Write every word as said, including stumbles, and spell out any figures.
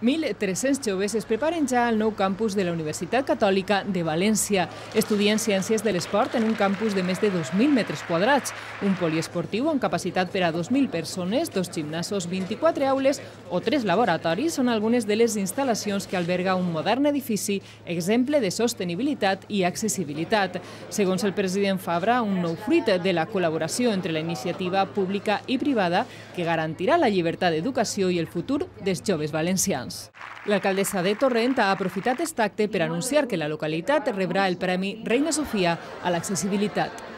mil tres-cents joves es preparen ja al nou campus de la Universitat Catòlica de València. Estudien Ciències de l'Esport en un campus de més de dos mil metres quadrats, un poliesportiu amb capacitat per a dos mil persones, dos gimnasos, vint-i-quatre aules o tres laboratoris són algunes de les instal·lacions que alberga un modern edifici, exemple de sostenibilitat i accessibilitat. Segons el president Fabra, un nou fruit de la col·laboració entre la iniciativa pública i privada que garantirà la llibertat d'educació i el futur dels joves valencians. L'alcaldessa de Torrent ha aprofitat aquest acte per anunciar que la localitat rebrà el Premi Reina Sofia a l'accessibilitat.